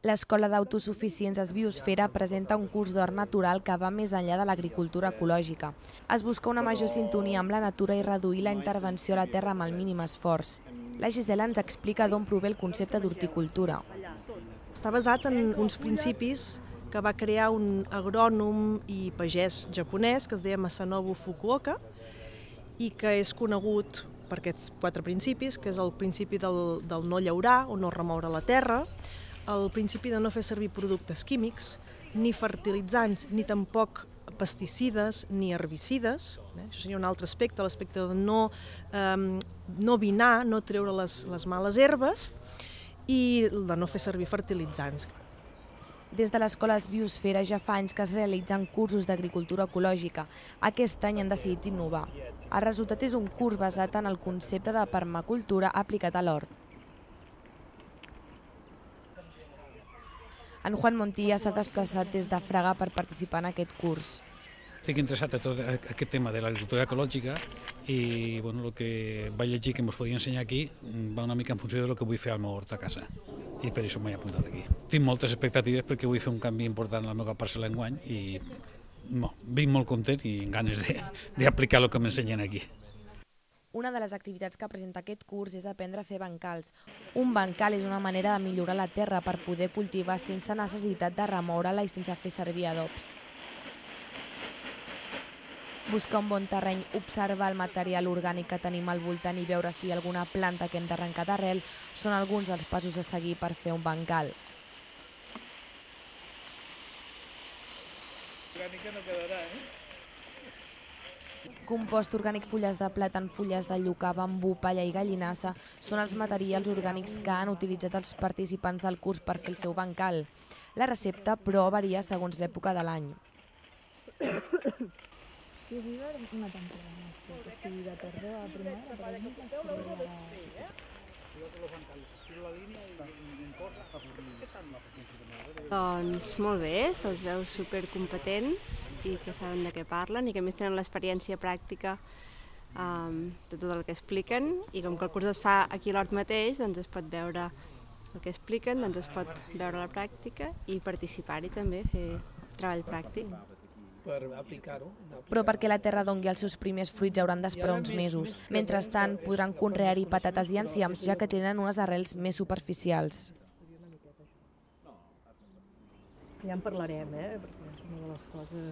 L'Escola d'Autosuficients Biosfera presenta un curs d'hort natural que va més enllà de l'agricultura ecològica. Es busca una major sintonia amb la natura i reduir la intervenció a la terra amb el mínim esforç. La Gisela ens explica d'on prové el concepte d'horticultura. Està basat en uns principis que va crear un agrònom i pagès japonès que es deia Masanobu Fukuoka i que és conegut per aquests 4 principis, que és el principi del no llaurar o no remoure la terra, el principi de no fer servir productes químics, ni fertilitzants, ni tampoc pesticides ni herbicides. Això seria un altre aspecte, l'aspecte de no vinar, no treure les males herbes i de no fer servir fertilitzants. Des de l'Escola Biosfera ja fa anys que es realitzen cursos d'agricultura ecològica. Aquest any han decidit innovar. El resultat és un curs basat en el concepte de permacultura aplicat a l'hort. En Juan Montilla s'ha desplaçat des de Fraga per participar en aquest curs. Estic interessat a tot aquest tema de l'agricultura ecològica i el que vaig llegir que ens podia ensenyar aquí va una mica en funció del que vull fer al meu hort a casa i per això m'he apuntat aquí. Tinc moltes expectatives perquè vull fer un canvi important a la meva parcel·la enguany i vinc molt content i amb ganes d'aplicar el que m'ensenyen aquí. Una de les activitats que presenta aquest curs és aprendre a fer bancals. Un bancal és una manera de millorar la terra per poder cultivar sense necessitat de remoure-la i sense fer servir adobs. Buscar un bon terreny, observar el material orgànic que tenim al voltant i veure si hi ha alguna planta que hem d'arrencar d'arrel són alguns dels passos a seguir per fer un bancal. Orgànica no quedarà, Compost orgànic, fulles de plàtan, fulles de lluca, bambú, palla i gallinassa són els materials orgànics que han utilitzat els participants del curs per fer el seu bancal. La recepta, però, varia segons l'època de l'any. Sí, una temporada, o sigui, de tardor a primavera, per exemple, Doncs molt bé, se'ls veu supercompetents i que saben de què parlen i que a més tenen l'experiència pràctica de tot el que expliquen i com que el curs es fa aquí a l'hort mateix, doncs es pot veure el que expliquen, doncs es pot veure la pràctica i participar-hi també, fer treball pràctic. per aplicar-ho. Però perquè la terra dongui els seus primers fruits hauran d'esperar uns mesos. Mentrestant, podran conrear-hi patates i enciams, ja que tenen unes arrels més superficials. Ja en parlarem, perquè és una de les coses